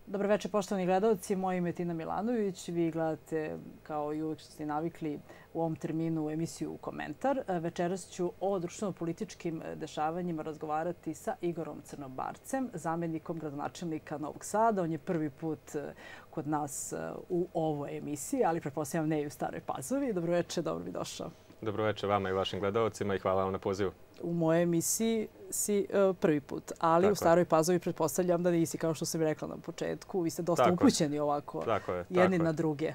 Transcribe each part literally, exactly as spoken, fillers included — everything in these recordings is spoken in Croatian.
Dobro večer, poštovani gledalci. Moje ime je Tina Milanović. Vi gledate, kao i uvijek što ste navikli, u ovom terminu emisiju Komentar. Večeras ću o društveno-političkim dešavanjima razgovarati sa Igorom Crnobarcem, zamjenikom gradonačelnika Novog Sada. On je prvi put kod nas u ovoj emisiji, ali pretpostavljam ne i u Staroj Pazovi. Dobro večer, dobro mi došao. Dobro večer vama i vašim gledalcima i hvala vam na pozivu. U mojoj emisiji si uh, prvi put, ali tako u Staroj Pazovi pretpostavljam da nisi, kao što sam rekla na početku. Vi ste dosta tako upućeni ovako tako je, jedni tako na druge.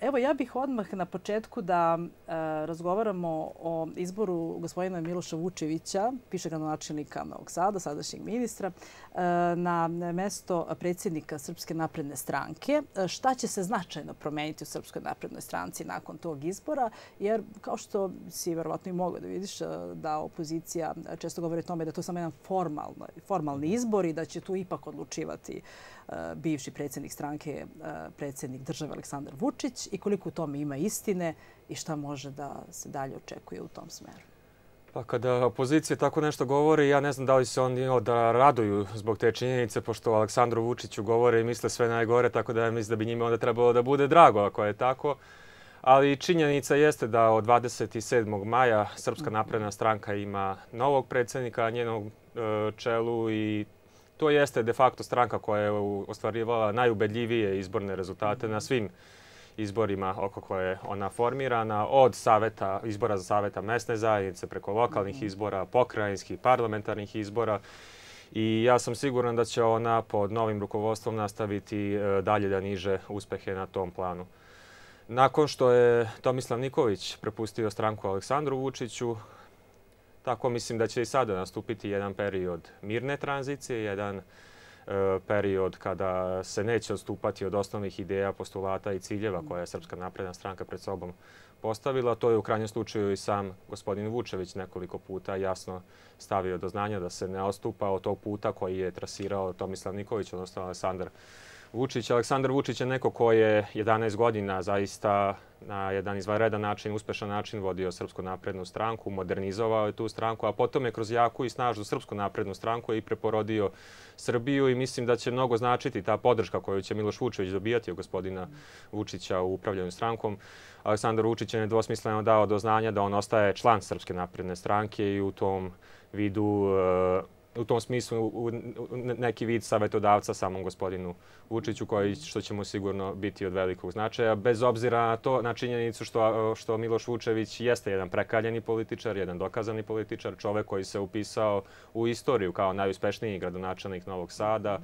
Evo, ja bih odmah na početku da e, razgovaramo o izboru gospodina Miloša Vučevića, bivšeg gradonačelnika Novog Sada, sadašnjeg ministra, e, na mesto predsjednika Srpske napredne stranke. Šta će se značajno promeniti u Srpskoj naprednoj stranci nakon tog izbora? Jer, kao što si verovatno i mogao da vidiš, da opozicija često govori o tome da je to samo jedan formalno, formalni izbor i da će tu ipak odlučivati bivši predsjednik stranke, predsjednik države Aleksandar Vučić, i koliko u tome ima istine i šta može da se dalje očekuje u tom smeru? Pa kada opozicija tako nešto govori, ja ne znam da li se oni da raduju zbog te činjenice, pošto o Aleksandru Vučiću govore i misle sve najgore, tako da mislim da bi njima onda trebalo da bude drago ako je tako. Ali činjenica jeste da od dvadeset sedmog maja Srpska napredna stranka ima novog predsjednika na njenom čelu i to jeste de facto stranka koja je ostvarivala najubedljivije izborne rezultate na svim izborima oko koje je ona formirana, od saveta, izbora za saveta mesne zajednice, preko lokalnih izbora, pokrajinskih, parlamentarnih izbora. I ja sam siguran da će ona pod novim rukovodstvom nastaviti dalje da niže uspehe na tom planu. Nakon što je Tomislav Nikolić prepustio stranku Aleksandru Vučiću, tako mislim da će i sada nastupiti jedan period mirne tranzicije, jedan e, period kada se neće odstupati od osnovnih ideja, postulata i ciljeva koje je Srpska napredna stranka pred sobom postavila. To je u krajnjem slučaju i sam gospodin Vučević nekoliko puta jasno stavio do znanja da se ne odstupa od tog puta koji je trasirao Tomislav Nikolić, odnosno Aleksandar Vučić. Aleksandar Vučić je neko ko je jedanaest godina zaista na jedan izvanredan način, uspešan način vodio Srpsku naprednu stranku, modernizovao je tu stranku, a potom je kroz jaku i snažnu Srpsku naprednu stranku i preporodio Srbiju i mislim da će mnogo značiti ta podrška koju će Miloš Vučević dobijati od gospodina Vučića u upravljanju strankom. Aleksandar Vučić je nedvosmisleno dao do znanja da on ostaje član Srpske napredne stranke i u tom vidu u tom smislu neki vid savjetodavca samom gospodinu Vučiću, koji što će mu sigurno biti od velikog značaja, bez obzira na to, na činjenicu što, što Miloš Vučević jeste jedan prekaljeni političar, jedan dokazani političar, čovek koji se upisao u istoriju kao najuspešniji gradonačelnik Novog Sada,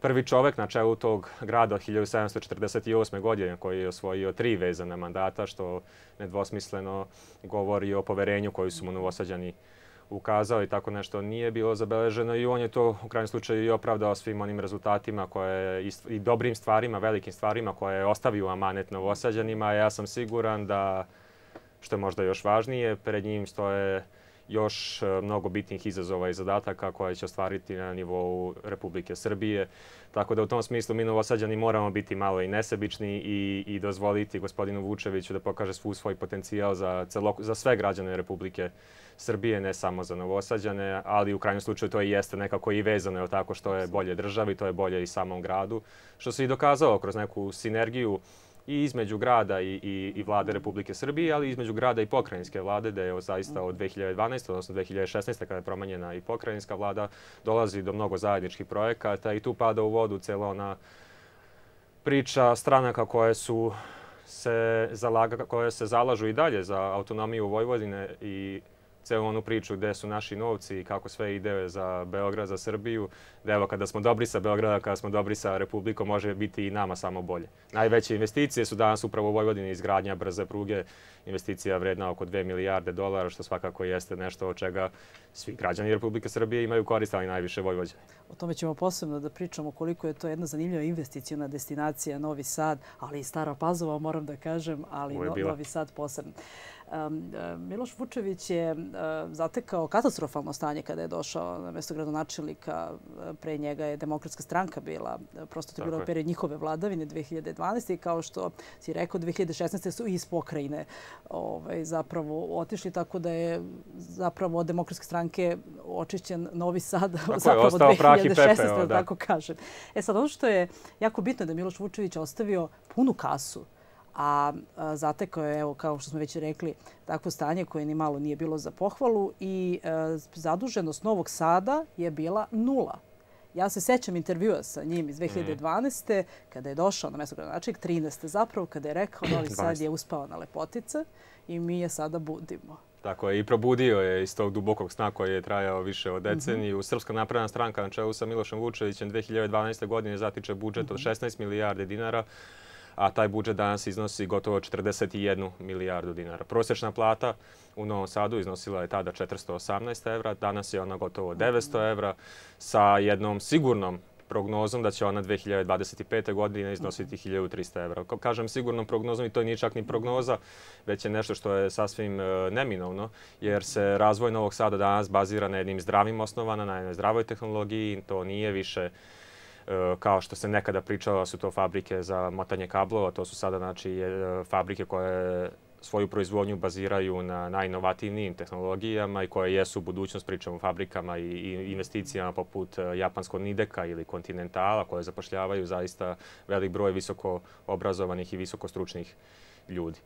prvi čovek na čelu tog grada od hiljadu sedamsto četrdeset osme. godine koji je osvojio tri vezana mandata, što nedvosmisleno govori o poverenju koju su mu Novosađani ukazao i tako nešto nije bilo zabeleženo i on je to u krajnjem slučaju i opravdao svim onim rezultatima koje, i dobrim stvarima, velikim stvarima koje je ostavio amanet Novosađanima. Ja sam siguran da, što je možda još važnije, pred njim stoje još mnogo bitnih izazova i zadataka koje će ostvariti na nivou Republike Srbije. Tako da u tom smislu mi Novosađani moramo biti malo i nesebični i, i dozvoliti gospodinu Vučeviću da pokaže svu svoj potencijal za, celok, za sve građane Republike Srbije, ne samo za Novosađane, ali u krajnjem slučaju to i jeste nekako i vezano je tako što je bolje državi, to je bolje i samom gradu, što se i dokazalo kroz neku sinergiju i između grada i, i, i vlade Republike Srbije, ali i između grada i pokrajinske vlade, da je zaista od dve hiljade dvanaeste. odnosno dve hiljade šesnaeste. kada je promenjena i pokrajinska vlada, dolazi do mnogo zajedničkih projekata i tu pada u vodu cijela ona priča stranaka koje su se zalaga, koje se zalažu i dalje za autonomiju Vojvodine i celu onu priču gde su naši novci i kako sve ide za Beograd, za Srbiju, da evo kada smo dobri sa Beograda, kada smo dobri sa Republikom, može biti i nama samo bolje. Najveće investicije su danas upravo u Vojvodini, izgradnja brze pruge, investicija vredna oko dve milijarde dolara, što svakako jeste nešto od čega svi građani Republike Srbije imaju korist, ali najviše Vojvođani. O tome ćemo posebno da pričamo koliko je to jedna zanimljiva investicijona destinacija Novi Sad, ali i Stara Pazova, moram da kažem, ali no, Novi Sad posebno. Um, Miloš Vučević je uh, zatekao katastrofalno stanje kada je došao na mjesto gradonačelnika. Pre njega je Demokratska stranka bila, prosto to je bilo period njihove vladavine dve hiljade dvanaeste. i kao što si rekao, dve hiljade šesnaeste. su iz pokrajine ovaj, zapravo otišli, tako da je zapravo od Demokratske stranke očišćen Novi Sad. Tako je, ostao hiljade šesnaeste. da tako kažem. E sad, ono što je jako bitno je da Miloš Vučević ostavio punu kasu, a zatekao je, evo, kao što smo već rekli, takvo stanje koje ni malo nije bilo za pohvalu i zaduženost Novog Sada je bila nula. Ja se sećam intervjua sa njim iz dve hiljade dvanaeste. kada je došao na mesto gradonačelnika, trinaeste zapravo, kada je rekao Novi Sad je uspao na lepotice i mi je sada budimo. Tako je, i probudio je iz tog dubokog sna koji je trajao više od deceniju. Srpska napredna stranka na čelu sa Milošem Vučevićem dve hiljade dvanaeste. godine zatiče budžet od šesnaest milijardi dinara, a taj budžet danas iznosi gotovo četrdeset jednu milijardu dinara. Prosječna plata u Novom Sadu iznosila je tada četiristo osamnaest evra, danas je ona gotovo devetsto evra, sa jednom sigurnom prognozom da će ona dve hiljade dvadeset pete. godine iznositi hiljadu trista evra. Kao kažem sigurnom prognozom, i to nije čak ni prognoza, već je nešto što je sasvim neminovno, jer se razvoj Novog Sada danas bazira na jednim zdravim osnovama, na jednoj zdravoj tehnologiji. To nije više kao što se nekada pričalo da su to fabrike za motanje kablova. To su sada znači fabrike koje svoju proizvodnju baziraju na najinovativnijim tehnologijama i koje jesu budućnost, pričamo o fabrikama i investicijama poput japanskog Nideka ili Kontinentala, koje zapošljavaju zaista velik broj visoko obrazovanih i visoko stručnih ljudi.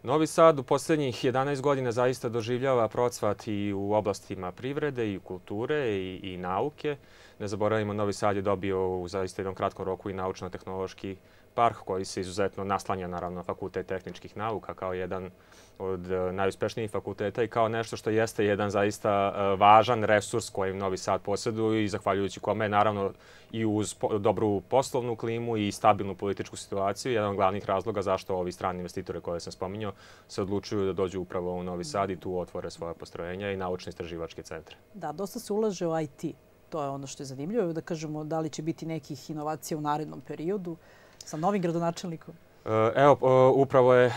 Novi Sad u posljednjih jedanaest godina zaista doživljava procvat i u oblastima privrede i kulture i, i nauke. Ne zaboravimo, Novi Sad je dobio u zaista jednom kratkom roku i naučno-tehnološki park koji se izuzetno naslanja naravno na Fakultet tehničkih nauka kao jedan od najuspešnijih fakulteta i kao nešto što jeste jedan zaista važan resurs kojim Novi Sad posjeduje i zahvaljujući kome je naravno i uz dobru poslovnu klimu i stabilnu političku situaciju jedan od glavnih razloga zašto ovi strani investitore koje sam spominjao se odlučuju da dođu upravo u Novi Sad i tu otvore svoje postrojenja i naučno-istraživačke centre. Da, dosta se ulaže u I T. To je ono što je zanimljivo. Da kažemo da li će biti nekih inovacija u narednom periodu sa novim gradonačelnikom? Evo, upravo je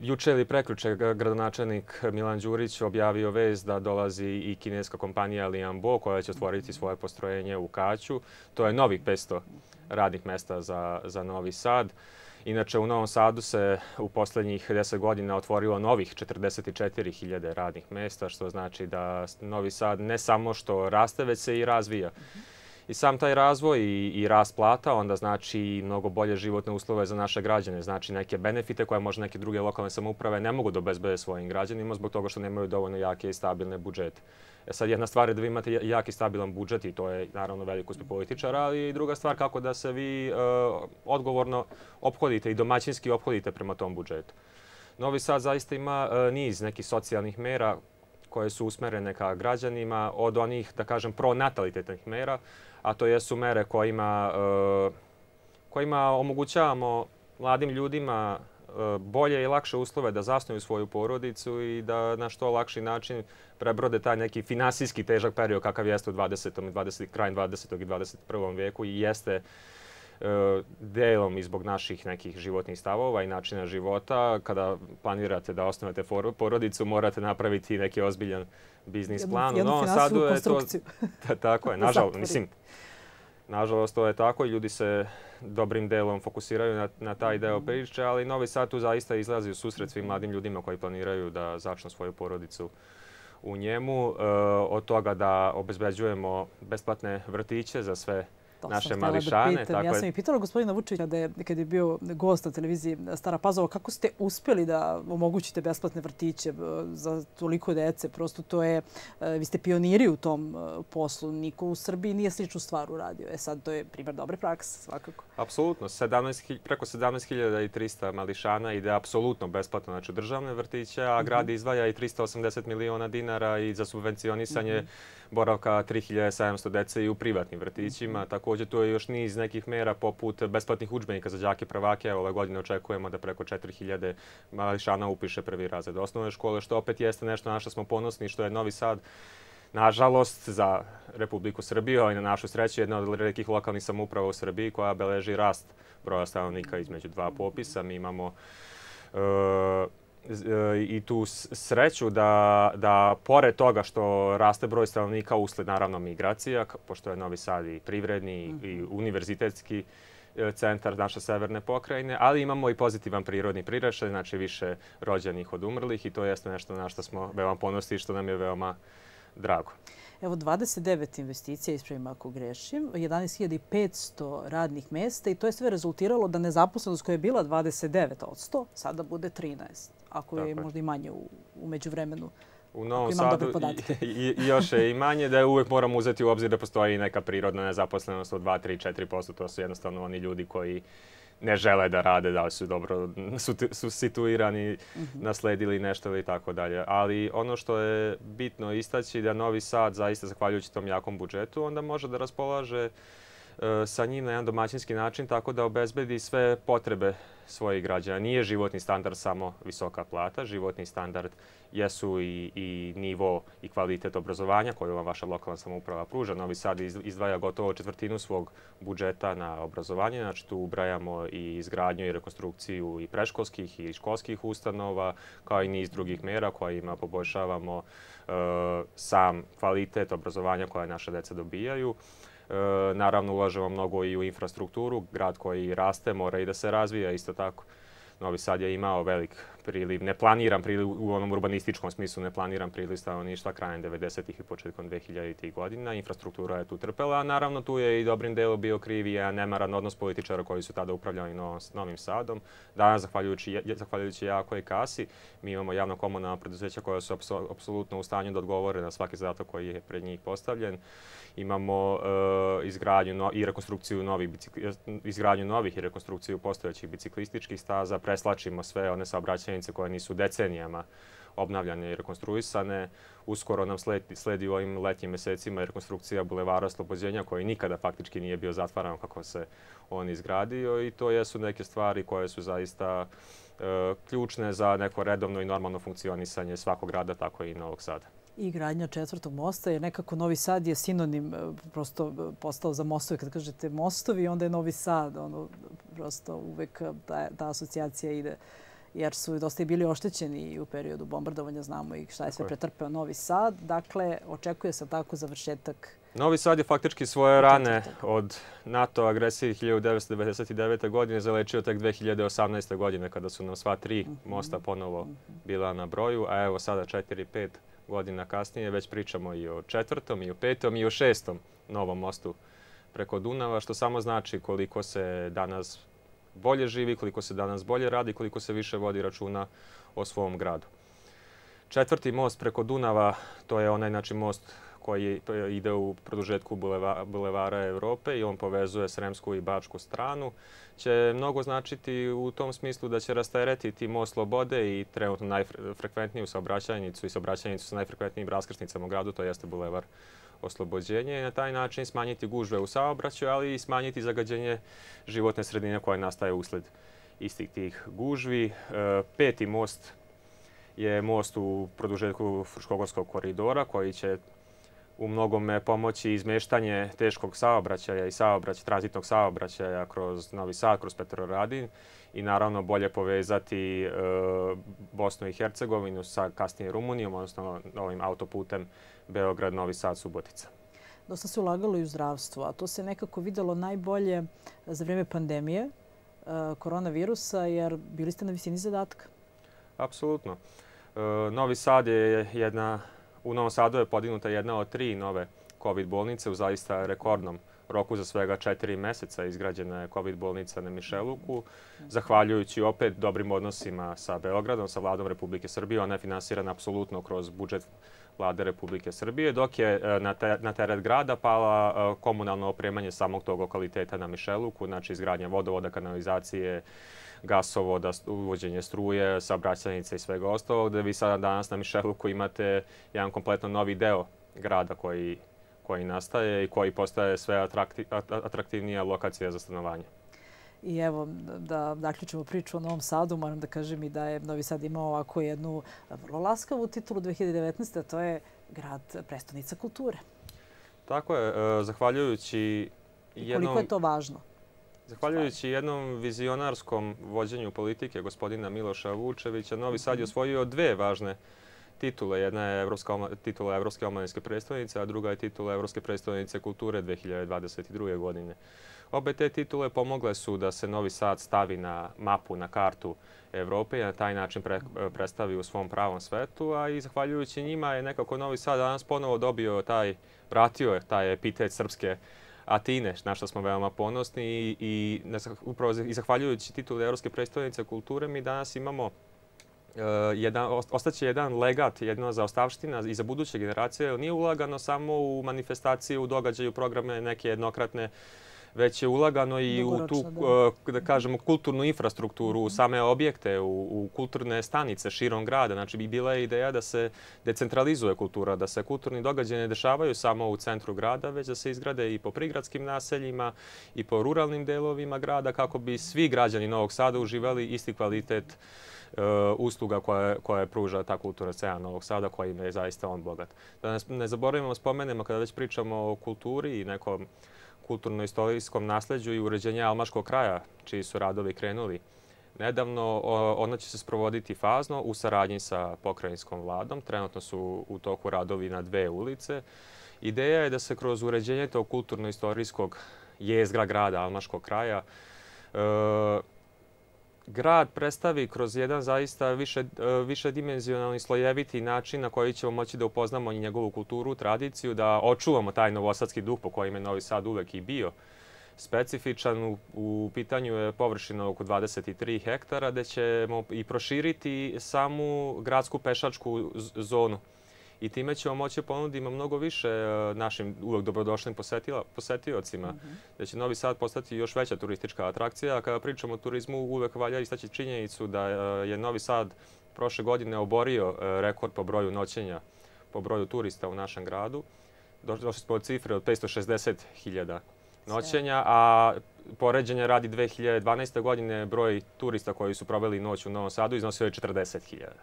juče ili prekjuče gradonačelnik Milan Đurić objavio vest da dolazi i kineska kompanija Lianbo koja će otvoriti svoje postrojenje u Kaću. To je novih petsto radnih mesta za, za Novi Sad. Inače, u Novom Sadu se u posljednjih deset godina otvorilo novih četrdeset četiri hiljade radnih mesta, što znači da Novi Sad ne samo što raste, već se i razvija. I sam taj razvoj i, i rast plata onda znači i mnogo bolje životne uslove za naše građane. Znači neke benefite koje možda neke druge lokalne samouprave ne mogu da obezbede svojim građanima zbog toga što nemaju dovoljno jake i stabilne budžete. E sad, jedna stvar je da vi imate jak i stabilan budžet i to je naravno velik uspjeh političara, ali i druga stvar kako da se vi uh, odgovorno ophodite i domaćinski ophodite prema tom budžetu. Novi Sad zaista ima uh, niz nekih socijalnih mera koje su usmerene ka građanima, od onih, da kažem, pronatalitetnih mera, a to jesu mere kojima, uh, kojima omogućavamo mladim ljudima bolje i lakše uslove da zasnuju svoju porodicu i da na što lakši način prebrode taj neki finansijski težak period kakav jeste u dvadesetom i dvadesetom krajem dvadesetog i dvadeset prvom vijeku i jeste uh, delom i zbog naših nekih životnih stavova i načina života. Kada planirate da osnovate porodicu, morate napraviti neki ozbiljan biznis plan. Jednu finansijsku konstrukciju. Tako je, nažalost, mislim, nažalost, to je tako i ljudi se dobrim delom fokusiraju na, na taj deo priče, ali Novi Sad tu zaista izlazi u susret svim mladim ljudima koji planiraju da začnu svoju porodicu u njemu. E, od toga da obezbeđujemo besplatne vrtiće za sve To naše sam mališane. Da pitam. Ja sam i pitala gospodina Vučevića kada je, kad je bio gost na televiziji Stara Pazova, kako ste uspjeli da omogućite besplatne vrtiće za toliko dece? Prosto to je, vi ste pioniri u tom poslu. Niko u Srbiji nije sličnu stvar uradio. E sad, to je primjer dobre prakse, svakako. Apsolutno. Preko sedamnaest hiljada trista mališana ide apsolutno besplatno, znači državne vrtiće, a grad izdvaja i trista osamdeset miliona dinara i za subvencionisanje boravka tri hiljade sedamsto dece i u privatnim vrtićima. Također, tu je još niz nekih mera poput besplatnih udžbenika za đake prvake. Ove godine očekujemo da preko četiri hiljade mališana upiše prvi razred osnovne škole, što opet jeste nešto na što smo ponosni, što je Novi Sad, nažalost, za Republiku Srbiju, ali na našu sreću, jedna od retkih lokalnih samouprava u Srbiji koja beleži rast broja stanovnika između dva popisa. Mi imamo uh, i tu sreću da, da pored toga što raste broj stanovnika usled naravno migracija, pošto je Novi Sad i privredni i univerzitetski centar naše severne pokrajine, ali imamo i pozitivan prirodni priraštaj, znači više rođenih od umrlih i to jeste nešto na što smo veoma ponosni i što nam je veoma drago. Evo, dvadeset devet investicija, ispravim ako grešim, jedanaest hiljada petsto radnih mjesta i to je sve rezultiralo da nezaposlenost koja je bila dvadeset devet posto sada bude trinaest, ako je možda i manje u međuvremenu. U Novom Sadu i još je i manje, da uvijek moramo uzeti u obzir da postoji neka prirodna nezaposlenost od dva, tri, četiri posto. To su jednostavno oni ljudi koji ne žele da rade, da li su dobro su situirani, nasledili nešto ili tako dalje. Ali ono što je bitno istaći da Novi Sad, zaista zahvaljujući tom jakom budžetu, onda može da raspolaže sa njim na jedan domaćinski način tako da obezbedi sve potrebe svojih građana. Nije životni standard samo visoka plata. Životni standard jesu i, i nivo i kvalitet obrazovanja koju vam vaša lokalna samouprava pruža. Novi Sad izdvaja gotovo četvrtinu svog budžeta na obrazovanje. Znači tu ubrajamo i izgradnju i rekonstrukciju i predškolskih i školskih ustanova, kao i niz drugih mjera kojima poboljšavamo e, sam kvalitet obrazovanja koje naše deca dobijaju. E, naravno, ulažemo mnogo i u infrastrukturu. Grad koji raste mora i da se razvija isto tako. Novi Sad je imao velik priliv, neplaniran priliv u onom urbanističkom smislu, neplaniran priliv stanovništva krajem devedesetih i početkom dvehiljaditih godina. Infrastruktura je tu trpela, a naravno tu je i dobrim delom bio kriv i nemaran odnos političara koji su tada upravljali Novim Sadom. Danas, zahvaljujući, zahvaljujući jakoj kasi, mi imamo javno-komunalna preduzeća koja su apsolutno u stanju da odgovore na svaki zadatak koji je pred njih postavljen. Imamo e, izgradnju no, i rekonstrukciju novih, bicikli, izgradnju novih i rekonstrukciju postojećih biciklističkih staza. Preslačimo sve one saobraćajnice koje nisu decenijama obnavljane i rekonstruisane. Uskoro nam sledi, sledi u ovim letnjim mesecima rekonstrukcija Bulevara Oslobođenja koji nikada faktički nije bio zatvaran kako se on izgradio i to jesu neke stvari koje su zaista e, ključne za neko redovno i normalno funkcionisanje svakog grada, tako i Novog Sada. I gradnja četvrtog mosta, jer nekako Novi Sad je sinonim prosto postao za mostovi. Kad kažete mostovi, onda je Novi Sad. Ono, prosto uvek ta, ta asocijacija ide. Jer su dosta i bili oštećeni i u periodu bombardovanja, znamo i šta je sve pretrpeo Novi Sad. Dakle, očekuje se tako završetak. Novi Sad je faktički svoje rane od NATO agresije hiljadu devetsto devedeset devete. godine zalečio tek dve hiljade osamnaeste. godine kada su nam sva tri mosta ponovo bila na broju, a evo sada četiri, pet godina kasnije već pričamo i o četvrtom, i o petom, i o šestom novom mostu preko Dunava, što samo znači koliko se danas bolje živi, koliko se danas bolje radi, koliko se više vodi računa o svom gradu. Četvrti most preko Dunava, to je onaj znači, most koji ide u produžetku buleva, bulevara Evrope i on povezuje Sremsku i Bačku stranu, će mnogo značiti u tom smislu da će rasteretiti most Slobode i trenutno najfrekventniju saobraćajnicu i saobraćajnicu sa najfrekventnijim raskrsnicama u gradu, to jeste Bulevar Oslobođenje i na taj način smanjiti gužve u saobraćaju, ali i smanjiti zagađenje životne sredine koje nastaje usled istih tih gužvi. E, peti most je most u produžetku Fruškogorskog koridora koji će u mnogome pomoći izmeštanje teškog saobraćaja i saobrać, tranzitnog saobraćaja kroz Novi Sad, kroz Petrovaradin i naravno bolje povezati e, Bosnu i Hercegovinu sa kasnije Rumunijom, odnosno ovim autoputem Beograd-Novi Sad-Subotica. Dosta se ulagalo i u zdravstvo, a to se nekako videlo najbolje za vrijeme pandemije e, koronavirusa, jer bili ste na visini zadatka. Apsolutno. E, Novi Sad je jedna... U Novom Sadu je podignuta jedna od tri nove COVID bolnice u zaista rekordnom roku za svega četiri meseca. Izgrađena je COVID bolnica na Mišeluku, zahvaljujući opet dobrim odnosima sa Beogradom, sa vladom Republike Srbije. Ona je finansirana apsolutno kroz budžet vlade Republike Srbije, dok je na teret grada pala komunalno opremanje samog tog lokaliteta na Mišeluku, znači izgradnja vodovoda, kanalizacije, gasovoda, uvođenje struje, saobraćajnice i svega ostalog, da vi sada danas na Mišeluku imate jedan kompletno novi deo grada koji, koji nastaje i koji postaje sve atraktiv, atraktivnija lokacija za stanovanje. I evo, da zaključimo priču o Novom Sadu, moram da kažem i da je Novi Sad imao ovako jednu vrlo laskavu titulu dve hiljade devetnaeste. a to je grad prestonica kulture. Tako je, zahvaljujući jednom... I koliko je to važno? Zahvaljujući jednom vizionarskom vođenju politike gospodina Miloša Vučevića, Novi Sad je osvojio dve važne titule. Jedna je evropska, titula Evropske omladinske predstavnice, a druga je titula Evropske predstavnice kulture dve hiljade dvadeset druge. godine. Obe te titule pomogle su da se Novi Sad stavi na mapu, na kartu Evrope i na taj način pre, predstavi u svom pravom svetu, a i zahvaljujući njima je nekako Novi Sad danas ponovo dobio taj, vratio je taj epitet srpske Atine, na što smo veoma ponosni i, i upravo i zahvaljujući titulu Evropske predstavnice kulture mi danas imamo uh, jedan, ostaće jedan legat, jedna zaostavština i za buduće generacije, jer nije ulagano samo u manifestacije, u događaju, programe neke jednokratne, već je ulagano i u tu, da. da kažemo, kulturnu infrastrukturu, u same objekte, u, u kulturne stanice širom grada. Znači, bi bila je ideja da se decentralizuje kultura, da se kulturni događaji ne dešavaju samo u centru grada, već da se izgrade i po prigradskim naseljima i po ruralnim delovima grada, kako bi svi građani Novog Sada uživali isti kvalitet uh, usluga koje, koje pruža ta kulturna scena Novog Sada, kojim je zaista on bogat. Da ne, ne zaboravimo, spomenemo, kada već pričamo o kulturi i nekom kulturno-istorijskom nasleđu i uređenje Almaškog kraja, čiji su radovi krenuli nedavno. Ona će se sprovoditi fazno u saradnji sa pokrajinskom vladom. Trenutno su u toku radovi na dve ulice. Ideja je da se kroz uređenje tog kulturno-istorijskog jezgra grada Almaškog kraja e, grad predstavi kroz jedan zaista više, višedimenzionalni, slojeviti način na koji ćemo moći da upoznamo i njegovu kulturu, tradiciju, da očuvamo taj novosadski duh po kojim je Novi Sad uvek i bio specifičan. U, u pitanju je površina oko dvadeset tri hektara, gde ćemo i proširiti samu gradsku pešačku zonu. I time ćemo moći ponuditi mnogo više našim uvek dobrodošlim posetiocima, mm-hmm. da će Novi Sad postati još veća turistička atrakcija. A kada pričamo o turizmu, uvek valja istaći činjenicu da je Novi Sad prošle godine oborio rekord po broju noćenja, po broju turista u našem gradu. Došli smo od cifre od petsto šezdeset hiljada noćenja, a poređenja radi dve hiljade dvanaeste. godine broj turista koji su proveli noć u Novom Sadu iznosio je četrdeset hiljada.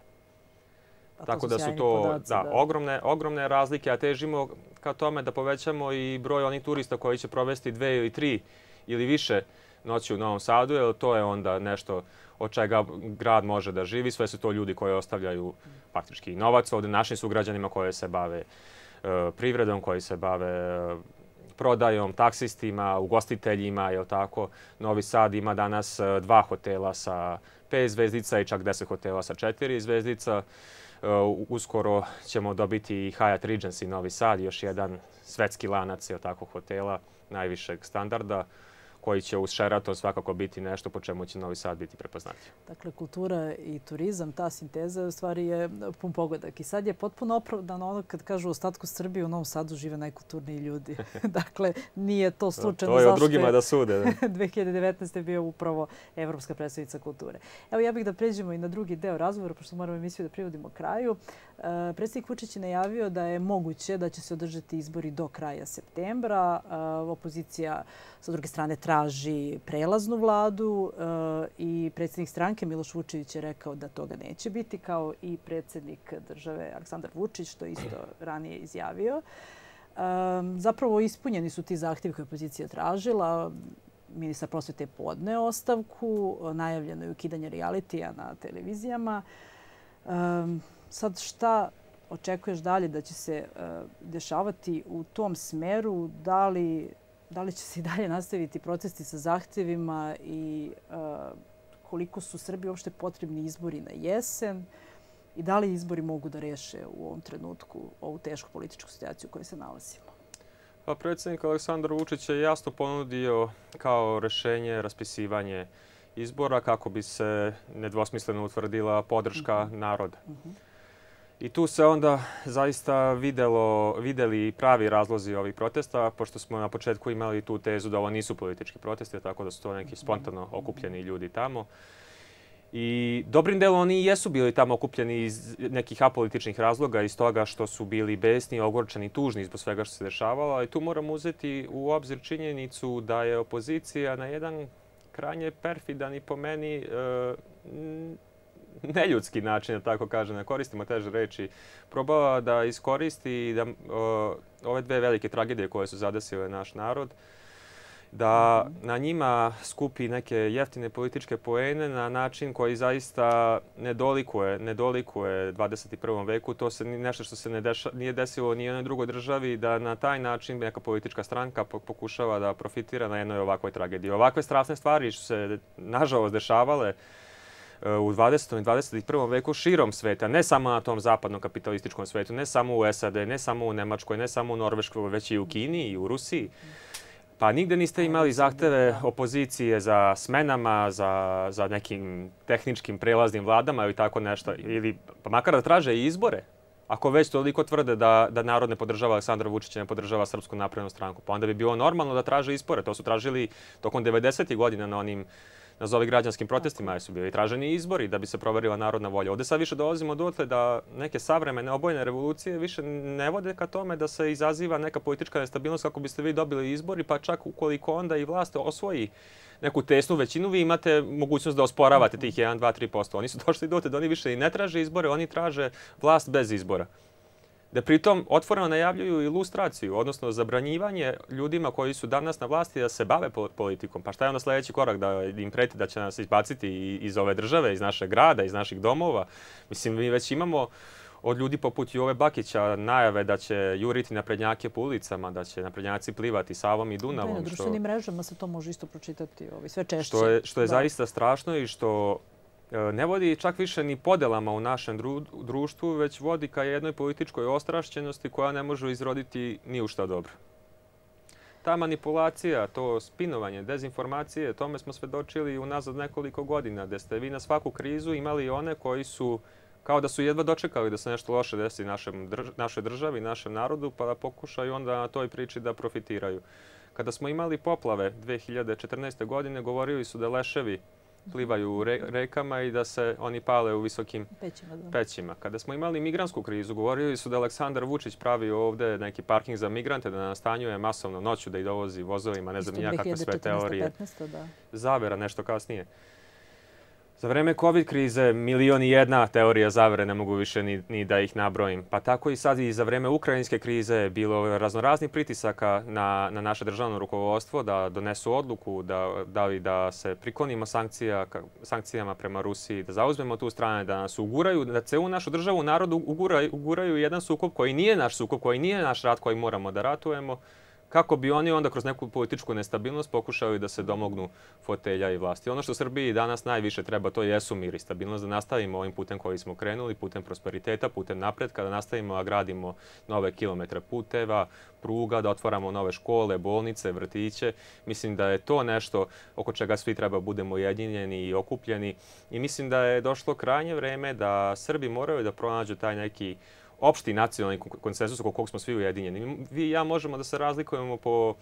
Tako da su to podaci, da, da. Ogromne, ogromne razlike, a težimo ka tome da povećamo i broj onih turista koji će provesti dve ili tri ili više noći u Novom Sadu, jer to je onda nešto od čega grad može da živi. Sve su to ljudi koji ostavljaju faktički novac ovdje našim sugrađanima koji se bave uh, privredom, koji se bave uh, prodajom, taksistima, ugostiteljima, je li tako? Novi Sad ima danas uh, dva hotela sa pet zvezdica i čak deset hotela sa četiri zvezdica. Uh, uskoro ćemo dobiti i Hyatt Regency Novi Sad, još jedan svetski lanac, je li tako, hotela najvišeg standarda, koji će uz Sheraton svakako biti nešto po čemu će Novi Sad biti prepoznatljiv. Dakle, kultura i turizam, ta sinteza u stvari je pun pogodak. I sad je potpuno opravdano ono kad kažu u ostatku Srbije u Novom Sadu žive najkulturniji ljudi. Dakle, nije to slučajno. To je o drugima da sude. dve hiljade devetnaeste. je bio upravo Evropska predstavnica kulture. Evo, ja bih da pređemo i na drugi deo razgovora, pošto moramo emisiju da privodimo kraju. Predsjednik Vučić je najavio da je moguće da će se održati izbori do kraja septembra. Opozicija sa druge strane traži prelaznu vladu i predsjednik stranke Miloš Vučević je rekao da toga neće biti, kao i predsjednik države Aleksandar Vučić, što isto ranije izjavio. Zapravo ispunjeni su ti zahtjevi koje je opozicija tražila. Ministar prosvete je podneo ostavku, najavljeno je ukidanje realitija na televizijama. Sad šta očekuješ dalje da će se dešavati u tom smeru? Da li Da li će se i dalje nastaviti protesti sa zahtjevima i uh, koliko su Srbiji uopšte potrebni izbori na jesen i da li izbori mogu da reše u ovom trenutku ovu tešku političku situaciju u kojoj se nalazimo? Pa, predsjednik Aleksandar Vučić je jasno ponudio kao rešenje raspisivanje izbora kako bi se nedvosmisleno utvrdila podrška mm-hmm. naroda. Mm-hmm. I tu se onda zaista videlo, videli pravi razlozi ovih protesta, pošto smo na početku imali tu tezu da ovo nisu politički protesti, tako da su to neki spontano okupljeni ljudi tamo. I dobrim delom oni jesu bili tamo okupljeni iz nekih apolitičnih razloga, iz toga što su bili besni, ogorčeni, tužni zbog svega što se dešavalo. I tu moramo uzeti u obzir činjenicu da je opozicija na jedan krajnje perfidan i po meni e, neljudski način, da tako kažem, ne koristimo teže reči, probala da iskoristi da, o, ove dve velike tragedije koje su zadesile naš narod da na njima skupi neke jeftine političke poene na način koji zaista ne dolikuje, ne dolikuje dvadeset i prvom veku. To se nešto što se ne deša, nije desilo ni u jednoj drugoj državi, da na taj način neka politička stranka pokušava da profitira na jednoj ovakvoj tragediji. Ovakve strašne stvari što se nažalost dešavale u dvadesetom i dvadeset i prvom veku širom sveta, ne samo na tom zapadnom kapitalističkom svetu, ne samo u S A D, ne samo u Nemačkoj, ne samo u Norveškoj, već i u Kini i u Rusiji. Pa nigde niste imali zahteve opozicije za smenama, za, za nekim tehničkim prelaznim vladama ili tako nešto. Ili pa makar da traže i izbore. Ako već toliko tvrde da, da narod ne podržava Aleksandra Vučića, ne podržava Srpsku naprednu stranku, pa onda bi bilo normalno da traže izbore. To su tražili tokom devedesetih godina na onim nazovi građanskim protestima, jer su bili traženi izbori da bi se proverila narodna volja. Ovdje sad više dolazimo dotle da neke savremene obojene revolucije više ne vode ka tome da se izaziva neka politička nestabilnost kako biste vi dobili izbori, pa čak ukoliko onda i vlast osvoji neku tesnu većinu, vi imate mogućnost da osporavate tih jedan, dva, tri posto. Oni su došli dotle da oni više i ne traže izbore, oni traže vlast bez izbora. Da pritom otvoreno najavljuju ilustraciju, odnosno zabranjivanje ljudima koji su danas na vlasti da se bave politikom. Pa šta je onda sljedeći korak? Da im preti da će nas izbaciti iz ove države, iz našeg grada, iz naših domova? Mislim, mi već imamo od ljudi poput Jove Bakića najave da će juriti naprednjake po ulicama, da će naprednjaci plivati Savom i Dunavom. Na društvenim mrežama se to može isto pročitati sve češće. Što je, što je zaista strašno i što ne vodi čak više ni podelama u našem društvu, već vodi ka jednoj političkoj ostrašćenosti koja ne može izroditi ni u šta dobro. Ta manipulacija, to spinovanje, dezinformacije, tome smo svedočili unazad nekoliko godina, gdje ste vi na svaku krizu imali one koji su kao da su jedva dočekali da se nešto loše desi našem, našoj državi, našem narodu, pa da pokušaju onda na toj priči da profitiraju. Kada smo imali poplave dve hiljade četrnaeste. godine, govorili su da leševi plivaju u rekama i da se oni pale u visokim pećima, pećima. Kada smo imali migrantsku krizu, govorili su da Aleksandar Vučić pravi ovdje neki parking za migrante, da nastanjuje masovno noću, da ih dovozi vozovima, ne znam nijakakve sve teorije. Da. Zavera nešto kasnije. Za vreme COVID krize milion i jedna teorija zavere, ne mogu više ni, ni da ih nabrojim. Pa tako i sad i za vreme ukrajinske krize je bilo raznoraznih pritisaka na, na naše državno rukovodstvo da donesu odluku da, da li da se priklonimo sankcija, sankcijama prema Rusiji, da zauzmemo tu stranu, da nas uguraju, da celu našu državu, narodu uguraju, uguraju jedan sukob koji nije naš sukob, koji nije naš rat koji moramo da ratujemo, kako bi oni onda kroz neku političku nestabilnost pokušali da se domognu fotelja i vlasti. Ono što Srbiji danas najviše treba, to jesu mir i stabilnost, da nastavimo ovim putem koji smo krenuli, putem prosperiteta, putem napretka, da nastavimo da gradimo nove kilometre puteva, pruga, da otvaramo nove škole, bolnice, vrtiće. Mislim da je to nešto oko čega svi treba budemo ujedinjeni i okupljeni. I mislim da je došlo krajnje vreme da Srbi moraju da pronađu taj neki opšti nacionalni konsenzus oko kog smo svi ujedinjeni. Vi i ja možemo da se razlikujemo po,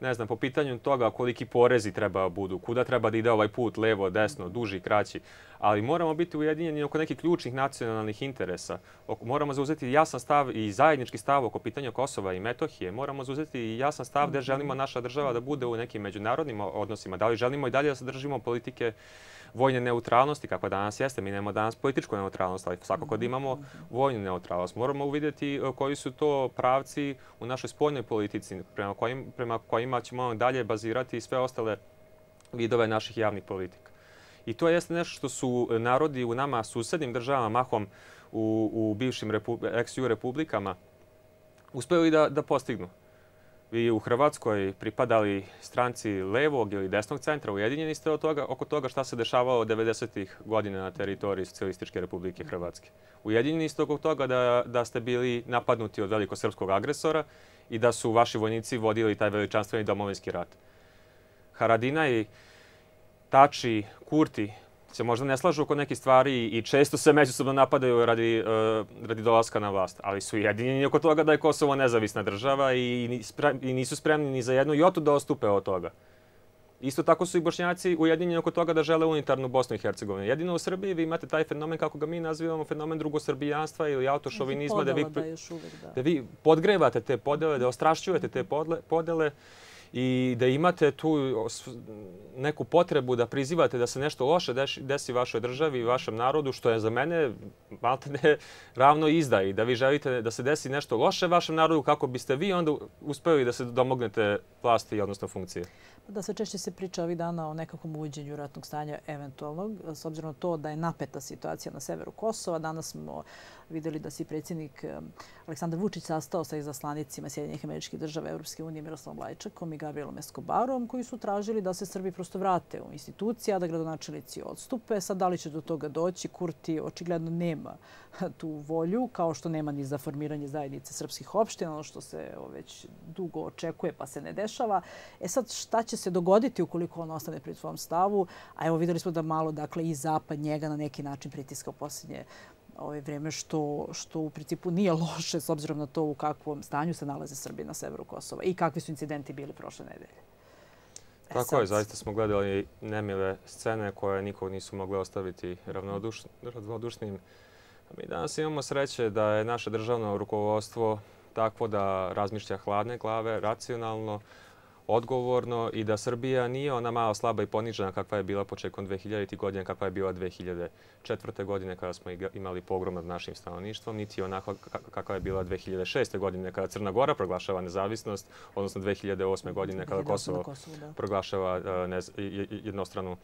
ne znam, po pitanju toga koliki porezi treba budu, kuda treba da ide ovaj put, levo, desno, duži, kraći. Ali moramo biti ujedinjeni oko nekih ključnih nacionalnih interesa. Moramo zauzeti jasan stav i zajednički stav oko pitanja Kosova i Metohije. Moramo zauzeti jasan stav gdje želimo naša država da bude u nekim međunarodnim odnosima. Da li želimo i dalje da se držimo politike vojne neutralnosti, kako danas jeste. Mi nemamo danas političku neutralnost, ali svakako da imamo vojnu neutralnost. Moramo uvidjeti koji su to pravci u našoj spoljnoj politici, prema, kojim, prema kojima ćemo dalje bazirati sve ostale vidove naših javnih politika. I to jeste nešto što su narodi u nama susednim državama, mahom u, u bivšim ex-ju republikama, uspeli da, da postignu. Vi u Hrvatskoj pripadali stranci levog ili desnog centra, ujedinjeni ste od toga, oko toga šta se dešavalo devedesetih godina na teritoriji Socijalističke Republike Hrvatske. Ujedinjeni ste oko toga da, da ste bili napadnuti od velikosrpskog agresora i da su vaši vojnici vodili taj veličanstveni domovinski rat. Haradinaj, Tači, Kurti se možda ne slažu oko nekih stvari i često se međusobno napadaju radi, uh, radi dolaska na vlast, ali su jedinjeni oko toga da je Kosovo nezavisna država i, i nisu spremni ni za jednu jotu da ostupe od toga. Isto tako su i Bošnjaci ujedinjeni oko toga da žele unitarnu Bosnu i Hercegovinu. Jedino u Srbiji vi imate taj fenomen, kako ga mi nazivamo, fenomen drugosrbijanstva ili autošovinizma, da vi, da, još uvek, da. da vi podgrevate te podele, da ostrašćujete te podle, podele i da imate tu neku potrebu da prizivate da se nešto loše desi vašoj državi i vašem narodu, što je za mene maltene ravno izdaji. Da vi želite da se desi nešto loše vašem narodu kako biste vi onda uspeli da se domognete vlasti, odnosno funkcije. Da, sve češće se priča ovih dana o nekakvom uvođenju ratnog stanja eventualnog, s obzirom na to da je napeta situacija na severu Kosova. Danas smo vidjeli da se predsjednik Aleksandar Vučić sastao sa izaslanicima Sjedinjenih Američkih Država, Evropske unije, Miroslavom Lajčakom i Gabrielom Escobarom, koji su tražili da se Srbi prosto vrate u institucije, a da gradonačelnici odstupe. Sad, da li će do toga doći? Kurti očigledno nema tu volju, kao što nema ni za formiranje zajednice srpskih opština, ono što se već dugo očekuje pa se ne dešava. E sad, šta će se dogoditi ukoliko on ostane pri svom stavu? A evo, vidjeli smo da malo, dakle, i Zapad njega na neki način pritiska u posljednje ove vrijeme, što, što u principu nije loše s obzirom na to u kakvom stanju se nalaze Srbi na severu Kosova i kakvi su incidenti bili prošle nedelje. E, Tako sad... je, zaista smo gledali nemile scene koje nikog nisu mogli ostaviti ravnodušnim. Mi danas imamo sreće da je naše državno rukovodstvo takvo da razmišlja hladne glave, racionalno, odgovorno i da Srbija nije ona malo slaba i ponižena kakva je bila početkom dve hiljaditih godina, kakva je bila dve hiljade četvrte. godine kada smo imali pogrom nad našim stanovništvom, niti onako kakva je bila dve hiljade šeste. godine kada Crna Gora proglašava nezavisnost, odnosno dve hiljade osme. godine kada Kosovo proglašava jednostranu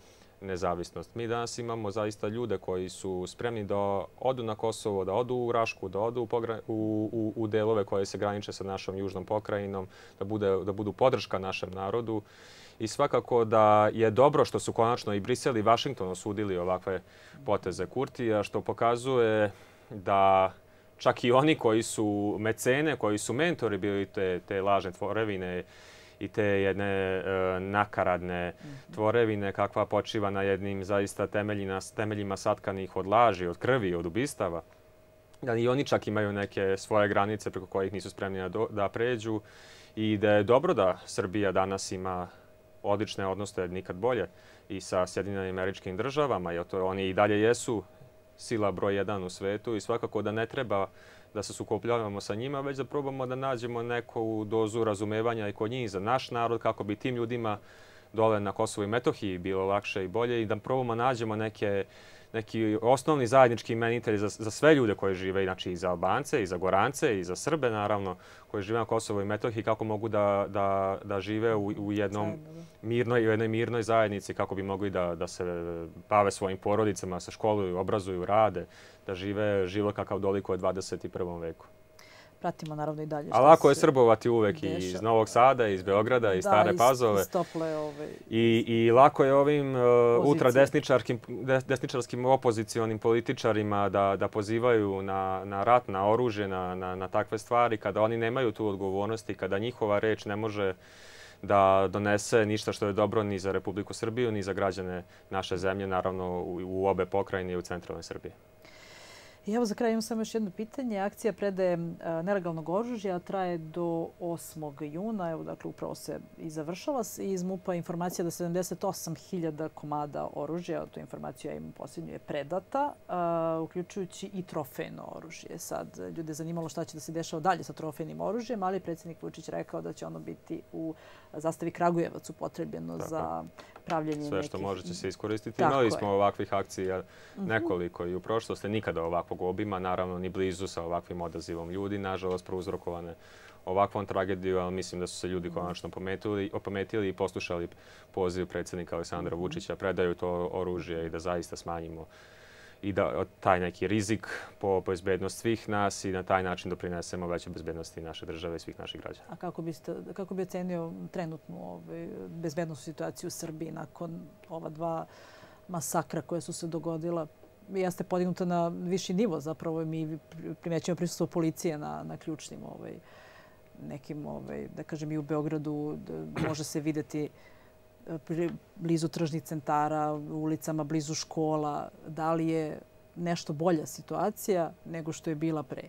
nezavisnost. Mi danas imamo zaista ljude koji su spremni da odu na Kosovo, da odu u Rašku, da odu u, u, u delove koje se graniče sa našom južnom pokrajinom, da, bude, da budu podrška našem narodu. I svakako da je dobro što su konačno i Brisel i Vašington osudili ovakve poteze Kurtija, što pokazuje da čak i oni koji su mecene, koji su mentori bili te, te lažne tvorevine, i te jedne e, nakaradne tvorevine kakva počiva na jednim zaista temeljima, temeljima satkanih od laži, od krvi, od ubistava. Da i oni čak imaju neke svoje granice preko kojih nisu spremni da, da pređu i da je dobro da Srbija danas ima odlične odnose, nikad bolje, i sa Sjedinjenim Američkim Državama, jer to oni i dalje jesu sila broj jedan u svetu i svakako da ne treba da se sukobljavamo sa njima, već da probamo da nađemo neku dozu razumevanja i kod njih za naš narod, kako bi tim ljudima dole na Kosovu i Metohiji bilo lakše i bolje i da probamo nađemo neke, neki osnovni zajednički imenitelj za, za sve ljude koji žive, znači i za Albance, i za Gorance, i za Srbe, naravno, koji žive na Kosovu i Metohiji, kako mogu da, da, da žive u, u jednom mirnoj, u jednoj mirnoj zajednici, kako bi mogli da, da se bave svojim porodicama, se školuju, obrazuju, rade, da žive život kakav dolikuje dvadeset prvom veku. Pratimo naravno i dalje. A lako je srbovati uvek i iz Novog Sada, iz Beograda, iz Stare Pazove. I, i lako je ovim uh, ultradesničarskim desničarskim opozicionim političarima da, da pozivaju na, na rat, na oružje, na, na, na takve stvari, kada oni nemaju tu odgovornost i kada njihova reč ne može da donese ništa što je dobro ni za Republiku Srbiju, ni za građane naše zemlje, naravno u, u obe pokrajine i u centralnoj Srbiji. I evo za kraj imam samo još jedno pitanje. Akcija predaje nelegalnog oružja traje do osmog juna. Evo, dakle, upravo se i završava. Iz MUP-a informacija da sedamdeset osam hiljada komada oružja, tu informaciju ja imam posljednju, je predata, uključujući i trofejno oružje. Sad, ljude je zanimalo šta će da se dešava dalje sa trofejnim oružjem, ali je predsjednik Vučić rekao da će ono biti u zastavi Kragujevac upotrebljeno za pravljenje nekih... Sve što može će se iskoristiti. Imali smo ovakvih akcija nekoliko i u prošlosti, nikada ovakvog obima, naravno ni blizu sa ovakvim odazivom ljudi, nažalost prouzrokovane ovakvom tragediju, ali mislim da su se ljudi konačno opametili i poslušali poziv predsjednika Aleksandra Vučića, predaju to oružje i da zaista smanjimo i da taj neki rizik po bezbednost svih nas i na taj način doprinesemo veće bezbednosti naše države i svih naših građana. A kako, biste, kako bi ocenio trenutnu ovaj, bezbednostnu situaciju u Srbiji nakon ova dva masakra koje su se dogodila? Jeste podignuta na viši nivo, zapravo mi primećujemo prisustvo policije na, na ključnim ovaj, nekim, ovaj, da kažem i u Beogradu, da može se vidjeti blizu tržnih centara, ulicama, blizu škola. Da li je nešto bolja situacija nego što je bila pre?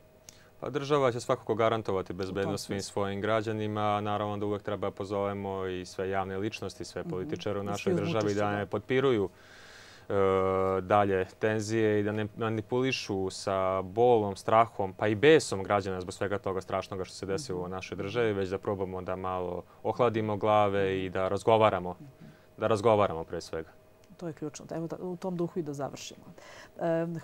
Pa država će svakako garantovati bezbednost svim svojim građanima. Naravno da uvek treba pozovemo i sve javne ličnosti, sve političare u našoj državi da ne potpiruju dalje tenzije i da ne manipulišu sa bolom, strahom, pa i besom građana zbog svega toga strašnoga što se desilo u našoj državi, već da probamo da malo ohladimo glave i da razgovaramo. Da razgovaramo pre svega. To je ključno. Evo u tom duhu i da završimo.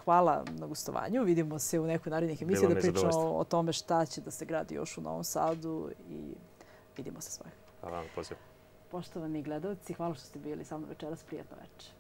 Hvala na gostovanju. Vidimo se u nekoj narednih emisiji da pričamo o tome šta će da se gradi još u Novom Sadu i vidimo se svakako. Hvala vam, poziv. Poštovani gledalci, hvala što ste bili sa mnom večeras. Prijatno večer.